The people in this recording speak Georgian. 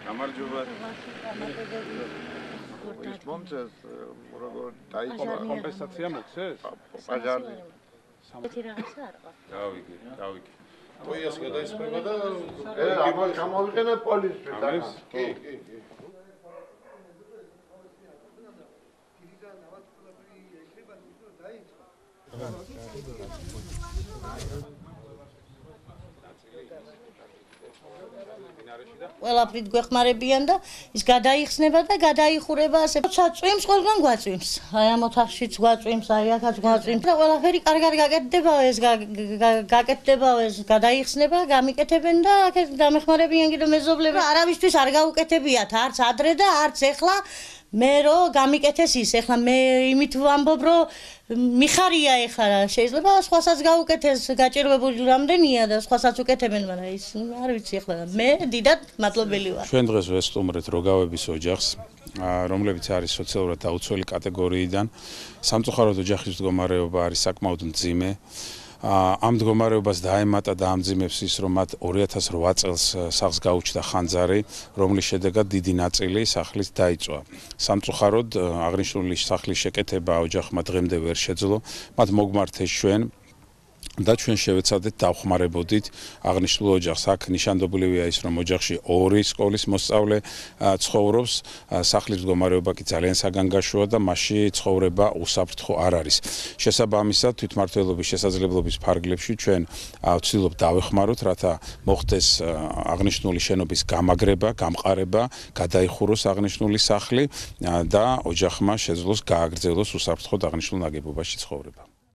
გამარჯობათ. ის მომწეს როგორ დაიწყო კომპენსაცია მოხდეს? პაჟარი. ერთი რაღაცა არ ყავს. გავიგე. პოიას გადაისწრება და ამას გამოვიყენებ პოლიციის. კი. ყველაფრით გვეხმარებიან და ის გადაიხსნება და გადაიხურება ასე. როცა წვიმს, ყველგან გვაწვიმს. აი ამ ოთახშიც გვაწვიმს, აი აქაც გვაწვიმს და ყველაფერი კარგად გაკეთდებაო ეს გაკეთდებაო ეს გადაიხსნება, გამიკეთებენ და აქეთ დამეხმარებიან კიდე მეზობლები. არავისთვის არ გაუკეთებიათ, არც ადრე და არც ეხლა. მე რო გამიკეთეს ის, ეხლა მე იმით ვამბობ, რომ მიხარია ეხლა შეიძლება სხვასაც გაუკეთეს, გაჭირვებული რამდენია და სხვასაც უკეთებენ, მაგრამ ის არ ვიცი ეხლა მე დიდად მადლობელი ვარ. ჩვენ დღეს ვესტუმრეთ როგავების ოჯახს, რომლებიც არის სოციალურად დაუცველი კატეგორიიდან. სამწუხაროდ ოჯახის მდგომარეობა არის საკმაოდ მძიმე. ამ მდგომარეობას დაემატა და ამძიმებს ის, რომ მათ 2008 წელს სახლს გაუჩნდა ხანძარი, რომლის შედეგად დიდი ნაწილი სახლის დაიწვა. სამწუხაროდ აღნიშნული სახლის შეკეთება ოჯახმა დღემდე ვერ შეძლო. მათ მოგმართეს ჩვენ და ჩვენ შევეცადეთ დავხმარებოდით აღნიშნულ ოჯახს. აქ ნიშანდობლივია ის, რომ ოჯახში 2 სკოლის მოსწავლე ცხოვრობს, სახლის მდგომარეობა კი ძალიან საგანგაშოა და მასში ცხოვრება უსაფრთხო არ არის. შესაბამისად, თვითმმართველობის შესაძლებლობის ფარგლებში ჩვენ ვცდილობთ დავეხმაროთ, რათა მოხდეს აღნიშნული შენობის გამაგრება, გამყარება, გადაიხუროს აღნიშნული სახლი და ოჯახმა შეძლოს გააგრძელოს უსაფრთხოდ აღნიშნულ ნაგებობაში ცხოვრება.